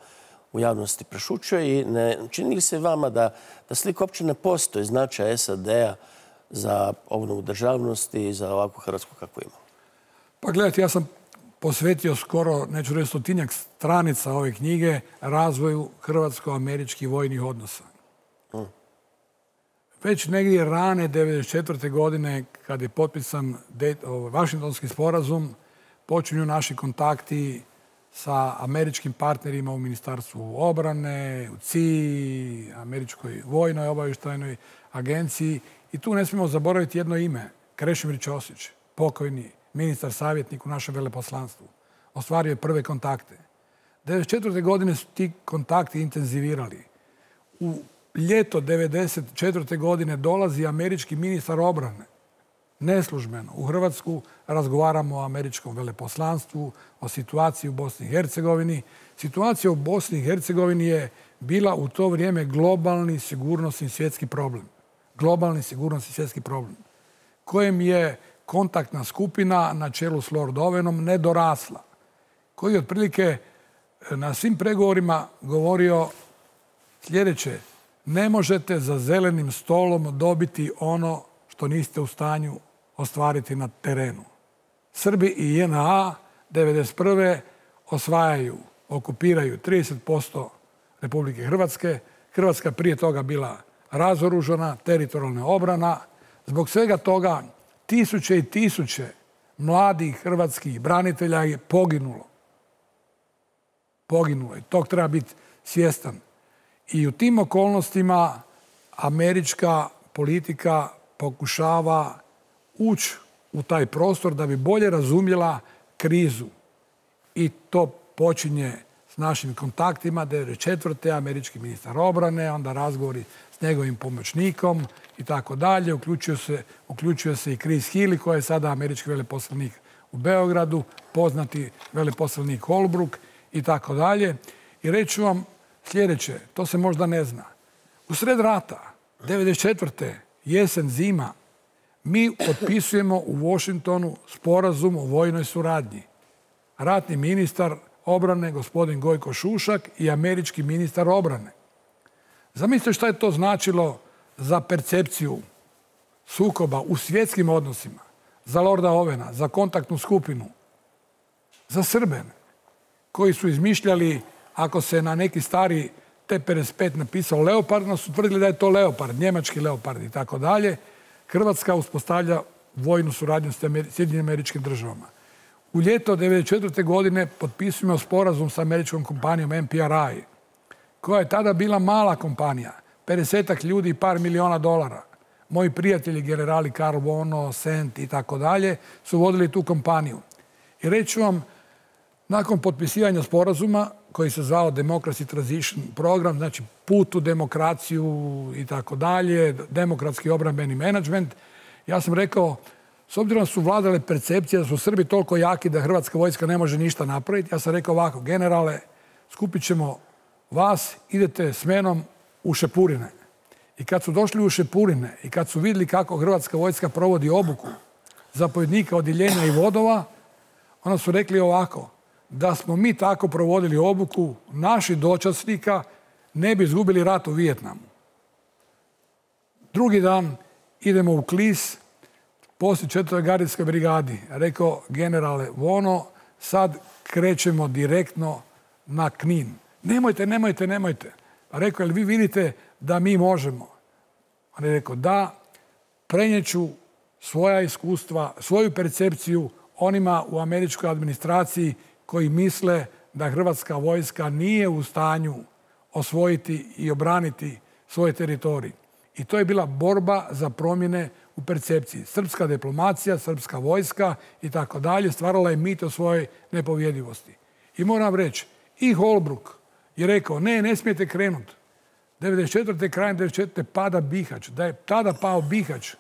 u javnosti prešućuje i ne čini li se vama da, da slika uopće ne postoji značaj S A D-a za obnovu državnosti i za ovakvu Hrvatsku kakvu imamo? Pa gledajte, ja sam posvetio skoro, neću reći stotinjak stranica ove knjige, razvoju hrvatsko-američkih vojnih odnosa. Hmm. Već negdje rane devedeset četvrte godine, kad je potpisan Vašingtonski sporazum, počinju naši kontakti sa američkim partnerima u Ministarstvu obrane, u C I A, Američkoj vojnoj obavještajnoj agenciji. I tu ne smijemo zaboraviti jedno ime, Krešimir Ćosić, pokojni ministar savjetnik u našem veleposlanstvu. Ostvario je prve kontakte. devedeset četvrte. godine su ti kontakti intenzivirali. U ljeto devedeset četvrte. godine dolazi američki ministar obrane, neslužbeno, u Hrvatsku. Razgovaramo o američkom veleposlanstvu, o situaciji u Bosni i Hercegovini. Situacija u Bosni i Hercegovini je bila u to vrijeme globalni sigurnosni svjetski problem. Globalni sigurnosni svjetski problem, kojem je kontaktna skupina na čelu s Lord Owenom nedorasla, koji je otprilike na svim pregovorima govorio sljedeće: ne možete za zelenim stolom dobiti ono što niste u stanju ostvariti na terenu. Srbi i J N A devedeset prve osvajaju, okupiraju trideset posto Republike Hrvatske. Hrvatska prije toga bila razoružana, teritorijalna obrana. Zbog svega toga tisuće i tisuće mladih hrvatskih branitelja je poginulo. Poginulo je. Tog treba biti svjestan. I u tim okolnostima američka politika pokušava ući u taj prostor da bi bolje razumjela krizu. I to počinje s našim kontaktima. devedeset četvrte. američki ministar obrane, onda razgovori s njegovim pomoćnikom i tako dalje. Uključuje se, uključuje se i Chris Healy, koji je sada američki veleposlanik u Beogradu, poznati veleposlanik Holbrooke i tako dalje. I reću vam sljedeće, to se možda ne zna. U sred rata, devedeset četvrte. jesen, zima, mi potpisujemo u Washingtonu sporazum o vojnoj suradnji. Ratni ministar obrane, gospodin Gojko Šušak, i američki ministar obrane. Zamislite šta je to značilo za percepciju sukoba u svjetskim odnosima, za Lorda Owena, za kontaktnu skupinu, za Srbe, koji su izmišljali, ako se na neki stari T pedeset pet napisao Leopard, no su tvrdili da je to Leopard, njemački Leopard i tako dalje. Hrvatska uspostavlja vojnu suradnju s Sjedinjenim Američkim Državama. U ljeto devedeset četvrte. godine potpisujemo sporazum s američkom kompanijom M P R I, koja je tada bila mala kompanija, pedesetak ljudi i par miliona dolara. Moji prijatelji, generali Karl Bono, Sent i tako dalje, su vodili tu kompaniju. I reću vam, nakon potpisivanja sporazuma, koji se zvao Democracy Transition Program, znači put u demokraciju i tako dalje, demokratski obrambeni menadžment, ja sam rekao, s obzirom da su vladale percepcije da su Srbi toliko jaki da hrvatska vojska ne može ništa napraviti, ja sam rekao ovako: generale, skupit ćemo vas, idete s menom u Šepurine. I kad su došli u Šepurine i kad su vidjeli kako hrvatska vojska provodi obuku zapovjednika odjeljenja i vodova, onda su rekli ovako: da smo mi tako provodili obuku, naši dočasnika ne bi izgubili rat u Vijetnamu. Drugi dan idemo u Klis, poslije četvrtoj gardijskoj brigadi. Rekao: generale Vono, sad krećemo direktno na Knin. Nemojte, nemojte, nemojte. Rekao: jel vi vidite da mi možemo? On je rekao: da, prenijeću svoja iskustva, svoju percepciju onima u američkoj administraciji koji misle da hrvatska vojska nije u stanju osvojiti i obraniti svoj teritorij. I to je bila borba za promjene u percepciji. Srpska diplomacija, srpska vojska i tako dalje stvarala je mit o svojoj nepovjedivosti. I moram reći, i Holbrooke je rekao: ne, ne smijete krenuti. devedeset četvrte. krajem devedeset četvrte. pada Bihać. Da je tada pao Bihać,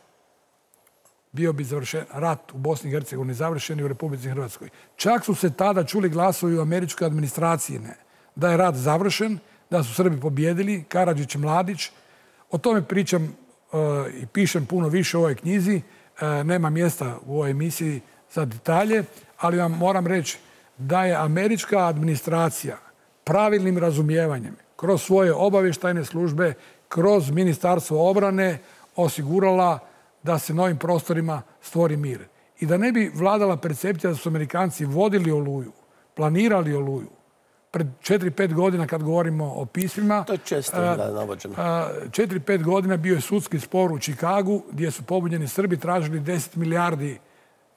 bio bi završen rat u Bosni i Hercegovini, završen i u Republici Hrvatskoj. Čak su se tada čuli glasovi u američkoj administraciji ne, da je rat završen, da su Srbi pobjedili, Karadžić i Mladić. O tome pričam uh, i pišem puno više u ovoj knjizi. Uh, nema mjesta u ovoj emisiji za detalje, ali vam moram reći da je američka administracija pravilnim razumijevanjem kroz svoje obavještajne službe, kroz Ministarstvo obrane osigurala da se na ovim prostorima stvori mir. I da ne bi vladala percepcija da su Amerikanci vodili Oluju, planirali Oluju. Pred četiri pet godina, kad govorimo o pismima, to je često da navođeno. četiri pet godina bio je sudski spor u Čikagu gdje su pobunjeni Srbi tražili deset milijardi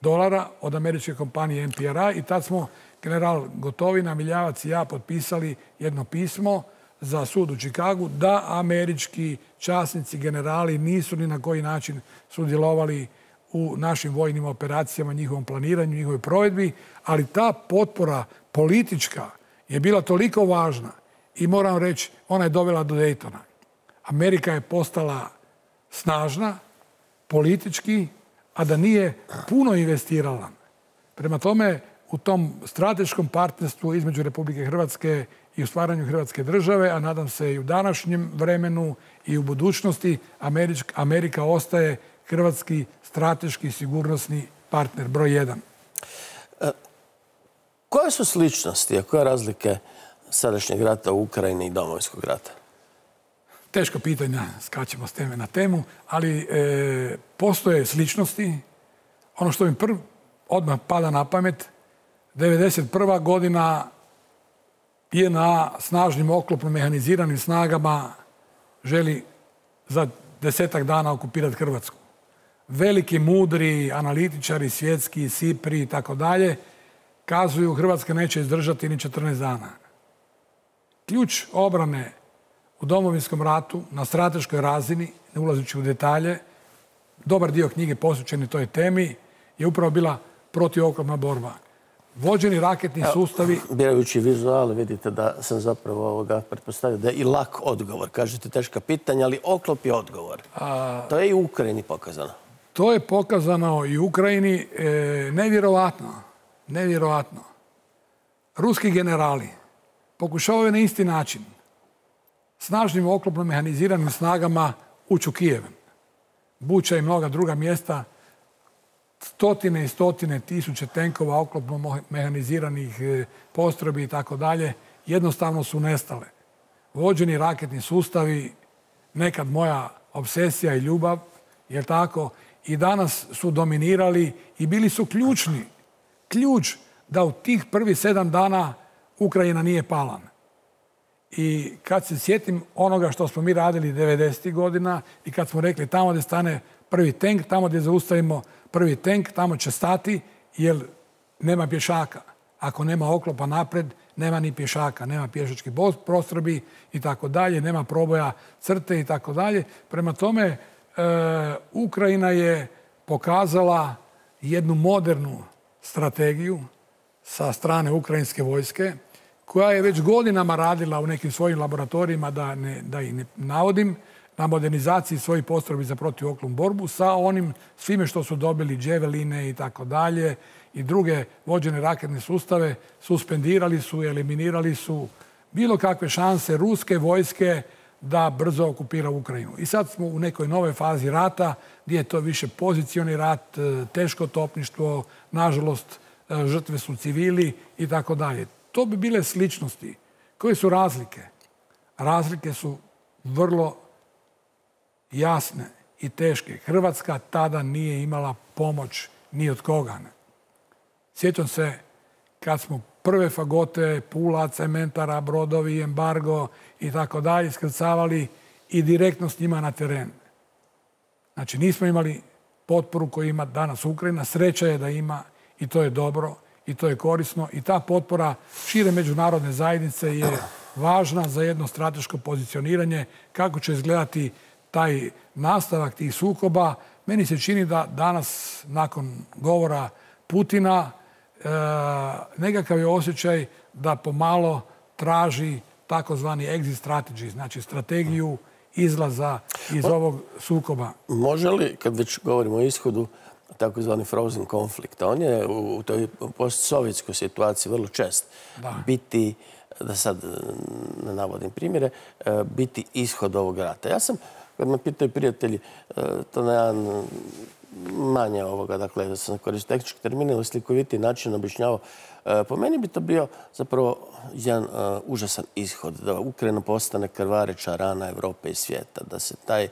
dolara od američke kompanije M P R I i tad smo general Gotovina, Miljavac i ja potpisali jedno pismo za sud u Čikagu da američki časnici, generali nisu ni na koji način sudjelovali u našim vojnim operacijama, njihovom planiranju, njihovoj provedbi, ali ta potpora politička je bila toliko važna i moram reći, ona je dovela do Daytona. Amerika je postala snažna, politički, a da nije puno investirala. Prema tome, u tom strateškom partnerstvu između Republike Hrvatske i u stvaranju Hrvatske države, a nadam se i u današnjem vremenu i u budućnosti, Amerika ostaje hrvatski strateški sigurnosni partner broj jedan. E, koje su sličnosti, a koje razlike sadašnjeg rata u Ukrajini i domovinskog rata? Teška pitanja, skačemo s teme na temu, ali e, postoje sličnosti. Ono što mi prv, odmah pada na pamet, devedeset prva godina je na snažnim oklopno mehaniziranim snagama želi za desetak dana okupirati Hrvatsku. Veliki, mudri analitičari, svjetski, Sipri i tako dalje, kazuju Hrvatska neće izdržati ni četrnaest dana. Ključ obrane u domovinskom ratu na strateškoj razini, ne ulazeći u detalje, dobar dio knjige posvećen toj temi, je upravo bila protivoklopna borba. Vođeni raketni sustavi... Birajući vizuale vidite da sam zapravo ovoga pretpostavio da je i lak odgovor. Kažete teška pitanja, ali oklop je odgovor. A... To je i u Ukrajini pokazano. To je pokazano i u Ukrajini. E, nevjerovatno. Nevjerovatno. Ruski generali pokušavaju na isti način snažnim oklopno mehaniziranim snagama ući u Kijev. Buča i mnoga druga mjesta, stotine i stotine tisuće tenkova, oklopno mehaniziranih postrojbi i tako dalje, jednostavno su nestale. Vođeni raketni sustavi, nekad moja obsesija i ljubav, jer tako, i danas su dominirali i bili su ključni. Ključ da u tih prvih sedam dana Ukrajina nije pala. I kad se sjetim onoga što smo mi radili devedesetih godina i kad smo rekli tamo gdje stane prvi tank, tamo gdje zaustavimo prvi tank, tamo će stati jer nema pješaka. Ako nema oklopa napred, nema ni pješaka, nema pješačkih postrojbi i tako dalje, nema proboja crte i tako dalje. Prema tome, e, Ukrajina je pokazala jednu modernu strategiju sa strane ukrajinske vojske, koja je već godinama radila u nekim svojim laboratorijima, da, ne, da ih ne navodim, na modernizaciji svojih postrojbi za protivoklopnu borbu sa onim svime što su dobili, dževeline i tako dalje i druge vođene raketne sustave, suspendirali su, eliminirali su bilo kakve šanse ruske vojske da brzo okupira Ukrajinu. I sad smo u nekoj nove fazi rata gdje je to više pozicioni rat, teško topništvo, nažalost žrtve su civili i tako dalje. To bi bile sličnosti. Koje su razlike? Razlike su vrlo jasne i teške. Hrvatska tada nije imala pomoć ni od koga. Sjećam se kad smo prve fagote, Pula, cementara, brodovi, embargo i tako dalje iskrcavali i direktno s njima na teren. Znači nismo imali potporu koju ima danas Ukrajina. Sreća je da ima i to je dobro i to je korisno. I ta potpora šire međunarodne zajednice je važna za jedno strateško pozicioniranje. Kako će izgledati taj nastavak tih sukoba? Meni se čini da danas, nakon govora Putina, e, nekakav je osjećaj da pomalo traži takozvani exit strategy, znači strategiju izlaza iz ovog sukoba. Može li, kad već govorimo o ishodu, takozvani frozen konflikt, on je u toj postsovjetskoj situaciji vrlo čest da. biti, da sad ne navodim primjere, biti ishod ovog rata. Ja sam, kad me pitaju prijatelji, to na jedan manje ovoga, dakle, da sam koristio tehnički termin ili slikoviti način objašnjavao, po meni bi to bio zapravo jedan uh, užasan ishod, da Ukrajina postane krvareća rana Evrope i svijeta, da se taj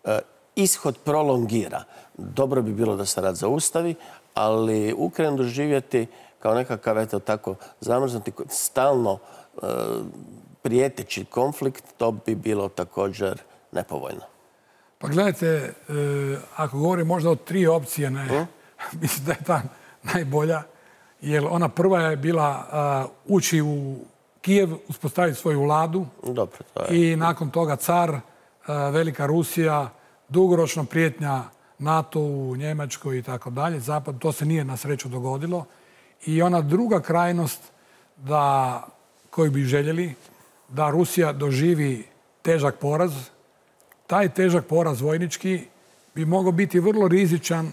uh, ishod prolongira. Dobro bi bilo da se rat zaustavi, ali Ukrajinu doživjeti kao nekakav, eto tako, zamrznuti, stalno uh, prijeteći konflikt, to bi bilo također nepovoljno. Pa gledajte, e, ako govorim možda o tri opcije, ne, hmm? mislim da je ta najbolja, jer ona prva je bila uh, ući u Kijev, uspostaviti svoju vladu. Dobro, to je. I nakon toga car, uh, Velika Rusija, dugoročno prijetnja NATO-u, Njemačkoj i tako dalje. Zapad, to se nije na sreću dogodilo. I ona druga krajnost da koji bi željeli da Rusija doživi težak poraz. Taj težak poraz vojnički bi mogao biti vrlo rizičan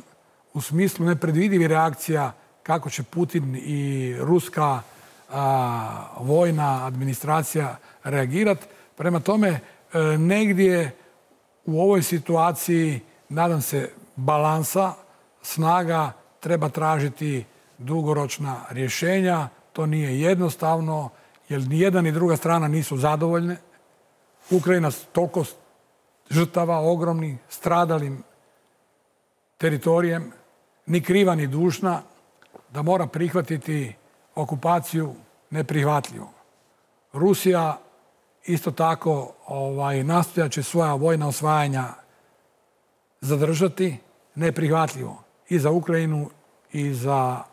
u smislu nepredvidivih reakcija kako će Putin i ruska a, vojna administracija reagirati. Prema tome, e, negdje u ovoj situaciji, nadam se, balansa, snaga, treba tražiti dugoročna rješenja. To nije jednostavno, jer ni jedna ni druga strana nisu zadovoljne. Ukrajina toliko žrtava, ogromnih, stradalim teritorijem, ni kriva ni dužna, da mora prihvatiti okupaciju neprihvatljivo. Rusija isto tako ovaj, nastojat će svoja vojna osvajanja zadržati, neprihvatljivo i za Ukrajinu i za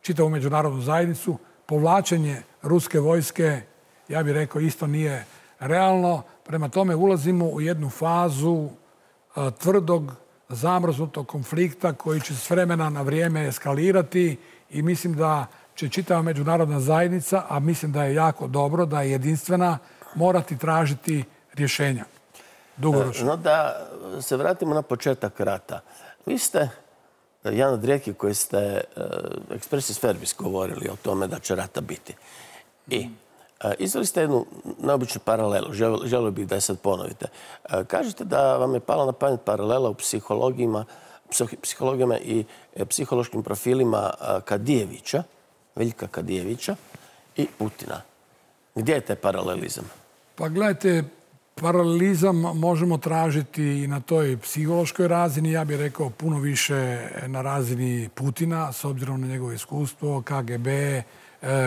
čitavu međunarodnu zajednicu. Povlačenje ruske vojske, ja bih rekao, isto nije realno. Prema tome ulazimo u jednu fazu a, tvrdog, zamrznutog konflikta koji će s vremena na vrijeme eskalirati i mislim da će čitava međunarodna zajednica, a mislim da je jako dobro, da je jedinstvena, morati tražiti rješenja dugoročno. No da se vratimo na početak rata. Vi ste jedan od rijetkih koji ste expressis verbis govorili o tome da će rata biti. I izveli ste jednu neobičnu paralelu, želio bih da je sad ponovite. Kažete da vam je pala na pamet paralela u psihologijama, psihologijama i psihološkim profilima Kadijevića, Veljka Kadijevića i Putina. Gdje je taj paralelizam? Pa gledajte, paralelizam možemo tražiti i na toj psihološkoj razini, ja bih rekao puno više na razini Putina, s obzirom na njegovo iskustvo, K G B,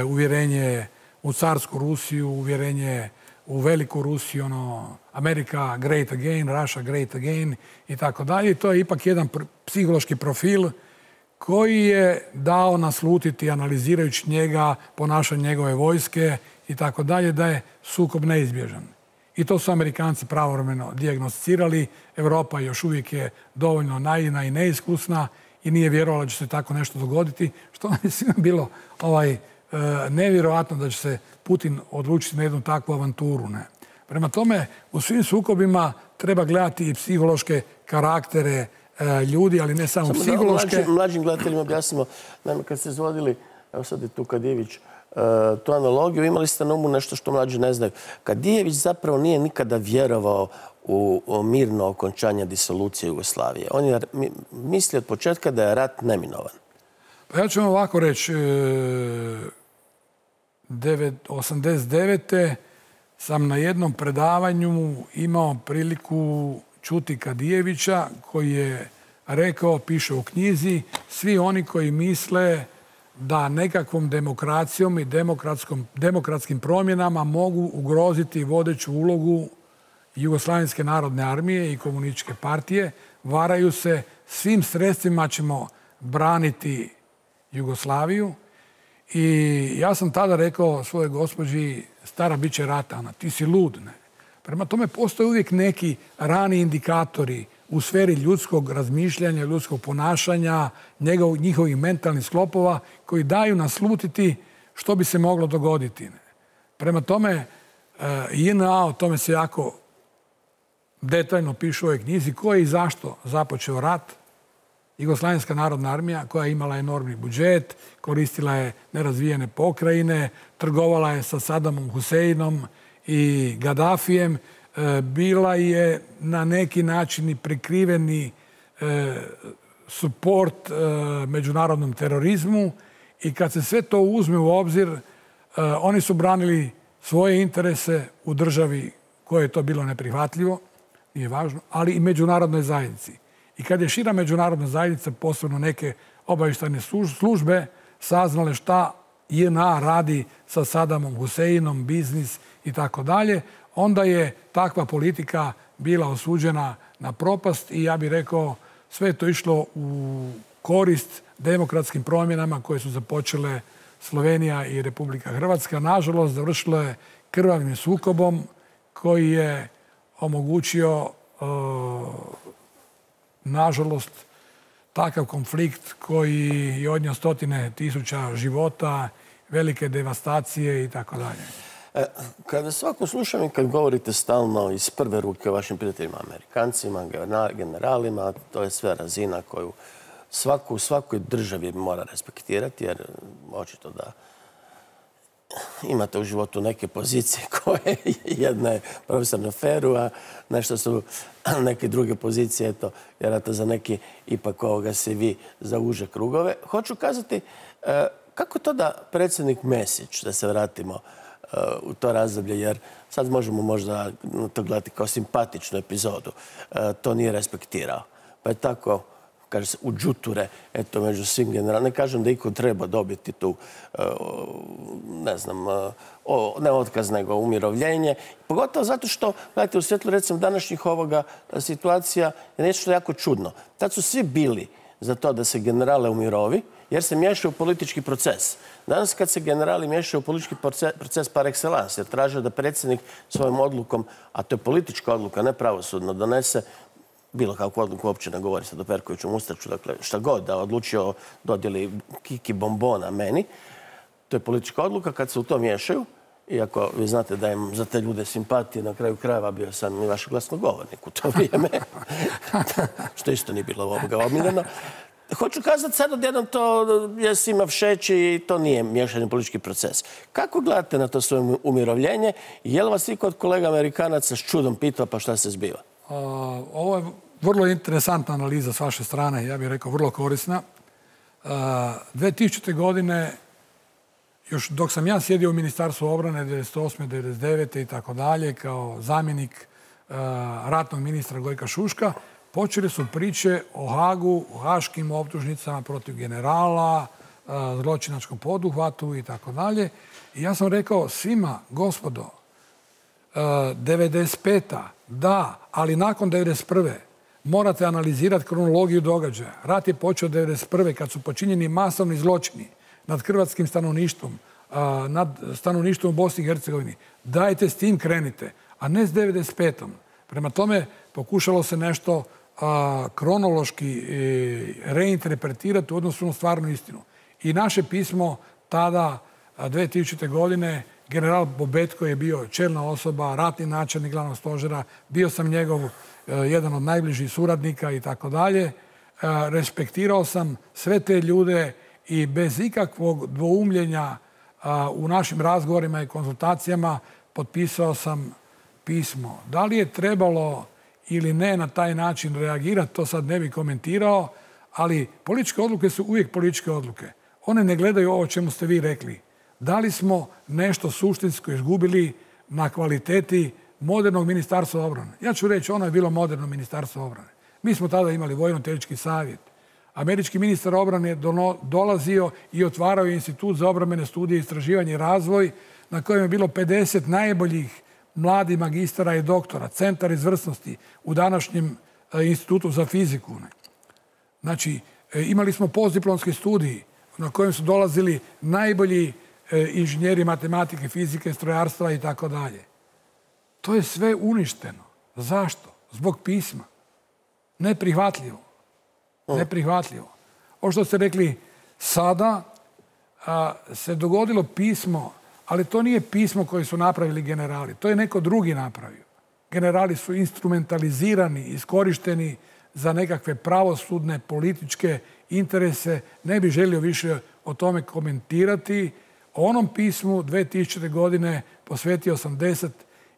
uvjerenje u carsku Rusiju, uvjerenje u veliku Rusiju, ono, America great again, Russia great again i tako dalje. To je ipak jedan psihološki profil koji je dao naslutiti, analizirajući njega, ponašanje njegove vojske i tako dalje, da je sukob neizbježan. I to su Amerikanci pravovremeno dijagnosticirali. Europa još uvijek je dovoljno naivna i neiskusna i nije vjerovala da će se tako nešto dogoditi, što je svima bilo ovaj, nevjerojatno da će se Putin odlučiti na jednu takvu avanturu. Ne? Prema tome, u svim sukobima treba gledati i psihološke karaktere e, ljudi, ali ne samo, samo psihološke. Mlađim, mlađim gledateljima objasnimo, naime, kad ste izvodili, evo sad je tu Kadijević, e, tu analogiju, imali ste na umu nešto što mlađi ne znaju. Kadijević zapravo nije nikada vjerovao u, u mirno okončanje disolucije Jugoslavije. On je mislio od početka da je rat neminovan. Pa ja ću vam ovako reći, osamdeset devete sam na jednom predavanju imao priliku čuti Kadijevića koji je rekao, piše u knjizi, svi oni koji misle da nekakvom demokracijom i demokratskim promjenama mogu ugroziti vodeću ulogu Jugoslavenske narodne armije i komunističke partije, varaju se, svim sredstvima ćemo braniti Jugoslaviju. I ja sam tada rekao svojoj gospođi, stara, bit će rata, ona, ti si lud. Ne? Prema tome postoje uvijek neki rani indikatori u sferi ljudskog razmišljanja, ljudskog ponašanja, njegov, njihovih mentalnih sklopova koji daju naslutiti što bi se moglo dogoditi. Ne? Prema tome, J N A, o tome se jako detaljno piše u ovoj knjizi, ko je i zašto započeo rat. Jugoslavenska narodna armija koja je imala enormni budžet, koristila je nerazvijene pokrajine, trgovala je sa Sadamom Huseinom i Gaddafijem, bila je na neki način i prikriveni suport međunarodnom terorizmu i kad se sve to uzme u obzir, oni su branili svoje interese u državi koje je to bilo neprihvatljivo, nije važno, ali i međunarodnoj zajednici. I kad je šira međunarodna zajednica, posebno neke obavještajne službe, saznale šta J N A radi sa Sadamom Huseinom, biznis i tako dalje, onda je takva politika bila osuđena na propast i ja bih rekao sve je to išlo u korist demokratskim promjenama koje su započele Slovenija i Republika Hrvatska. Nažalost, završilo je krvavim sukobom koji je omogućio uh, nažalost, takav konflikt koji je odnio stotine tisuća života, velike devastacije i tako dalje. Kada svako slušam i kad govorite stalno iz prve ruke o vašim prijateljima, Amerikancima, generalima, to je sve razina koju svako u svakoj državi mora respektirati, jer očito da imate u životu neke pozicije koje jedna je profesor na feru, a nešto su neke druge pozicije, eto, vjerojatno za neki ipak ovoga se vi za uže krugove. Hoću kazati, kako to da predsjednik Mesić, da se vratimo u to razdoblje, jer sad možemo možda to gledati kao simpatičnu epizodu, to nije respektirao. Pa je tako, kaže se, u džuture, eto, među svim generalima. Ne kažem da iko treba dobiti tu, ne znam, ne otkaz, nego umirovljenje. Pogotovo zato što, gledajte, u svjetlu, recimo, današnjih ovoga situacija je nešto jako čudno. Tad su svi bili za to da se generale umirovi, jer se miješaju u politički proces. Danas kad se generali miješaju u politički proces par excellence, jer traže da predsjednik svojom odlukom, a to je politička odluka, ne pravosudno, donese bilo kakvu odluku, uopće ne govori sad o Perkoviću Mustaču, dakle šta god da odlučio dodjeli kiki bombona meni, to je politička odluka. Kad se u to miješaju, iako vi znate da im za te ljude simpatije, na kraju krajeva bio sam i vaš glasnogovornik u to vrijeme, što isto nije bilo ovoga omiljeno. Hoću kazati sad odjednom to je svima všeći i to nije miješanje u politički proces. Kako gledate na to svoje umirovljenje? Je li vas i kod kolega Amerikanaca s čudom pitao pa šta se zbiva? Ovo je vrlo interesantna analiza s vaše strane, ja bih rekao vrlo korisna. dvije tisućite. godine, još dok sam ja sjedio u Ministarstvu obrane devedeset osme. devedeset devete. i tako dalje, kao zamjenik ratnog ministra Gojka Šuška, počeli su priče o Hagu, o haškim optužnicama protiv generala, zločinačkom poduhvatu i tako dalje. I ja sam rekao svima, gospodo, devedeset peta. da, ali nakon devedeset prve. morate analizirati kronologiju događaja. Rat je počeo devedeset prve. kad su počinjeni masovni zločini nad hrvatskim stanovništvom, nad stanovništvom u Bosni i Hercegovini. Dajte s tim krenite, a ne s devedeset petom. Prema tome pokušalo se nešto kronološki reinterpretirati u odnosu na stvarnu istinu. I naše pismo tada, dvije tisućite. godine, general Bobetko je bio čelna osoba, ratni načelnik glavnog stožera, bio sam njegov jedan od najbližih suradnika i tako dalje. Respektirao sam sve te ljude i bez ikakvog dvoumljenja u našim razgovorima i konzultacijama potpisao sam pismo. Da li je trebalo ili ne na taj način reagirati, to sad ne bih komentirao, ali političke odluke su uvijek političke odluke. One ne gledaju ovo o čemu ste vi rekli. Da li smo nešto suštinsko izgubili na kvaliteti modernog ministarstva obrane? Ja ću reći, ono je bilo moderno ministarstvo obrane. Mi smo tada imali vojno-tehnički savjet. Američki ministar obrane je dolazio i otvarao institut za obrambene studije, istraživanje i razvoj, na kojem je bilo pedeset najboljih mladih magistara i doktora, centar izvrsnosti u današnjem institutu za fiziku. Znači, imali smo postdiplomski studij na kojem su dolazili najbolji inženjeri matematike, fizike, strojarstva i tako dalje. To je sve uništeno. Zašto? Zbog pisma. Neprihvatljivo. Neprihvatljivo. Ovo što ste rekli, sada se dogodilo pismo, ali to nije pismo koje su napravili generali. To je neko drugi napravio. Generali su instrumentalizirani, iskorišteni za nekakve pravosudne, političke interese. Ne bih želio više o tome komentirati. O onom pismu dvije tisućite. godine posvetio sam deset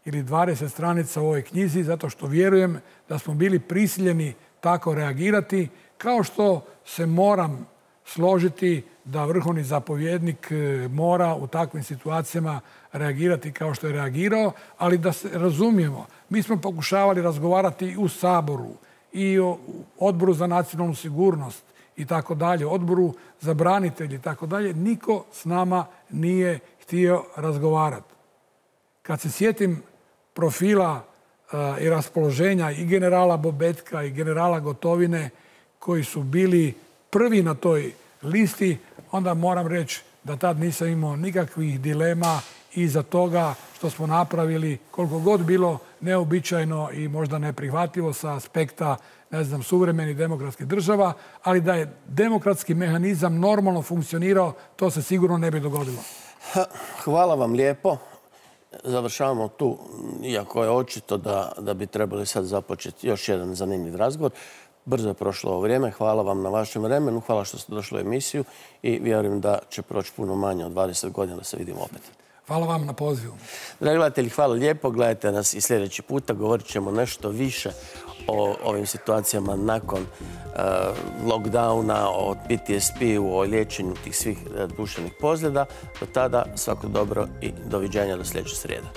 ili dvadeset stranica u ovoj knjizi, zato što vjerujem da smo bili prisiljeni tako reagirati, kao što se moram složiti da vrhovni zapovjednik mora u takvim situacijama reagirati kao što je reagirao, ali da se razumijemo. Mi smo pokušavali razgovarati i u Saboru, i o Odboru za nacionalnu sigurnost i tako dalje, Odboru za branitelji i tako dalje. Niko s nama nije htio razgovarati. Kad se sjetim profila i raspoloženja i generala Bobetka i generala Gotovine, koji su bili prvi na toj listi, onda moram reći da tad nisam imao nikakvih dilema iza toga što smo napravili, koliko god bilo neobičajno i možda neprihvatljivo sa aspekta, ne znam, suvremenih demokratskih država, ali da je demokratski mehanizam normalno funkcionirao, to se sigurno ne bi dogodilo. Hvala vam lijepo. završavamo tu, iako je očito da, da bi trebali sad započeti još jedan zanimljiv razgovor. Brzo je prošlo ovo vrijeme. Hvala vam na vašem vremenu. Hvala što ste došli u emisiju i vjerujem da će proći puno manje od dvadeset godina da se vidimo opet. Hvala vam na pozivu. Dragi gledatelji, hvala lijepo. Gledajte nas i sljedeći puta. Govorit ćemo nešto više o ovim situacijama nakon uh, lockdowna, o P T S P-u, o liječenju tih svih uh, duševnih pozljeda. Do tada svako dobro i doviđenja do sljedeće srijede.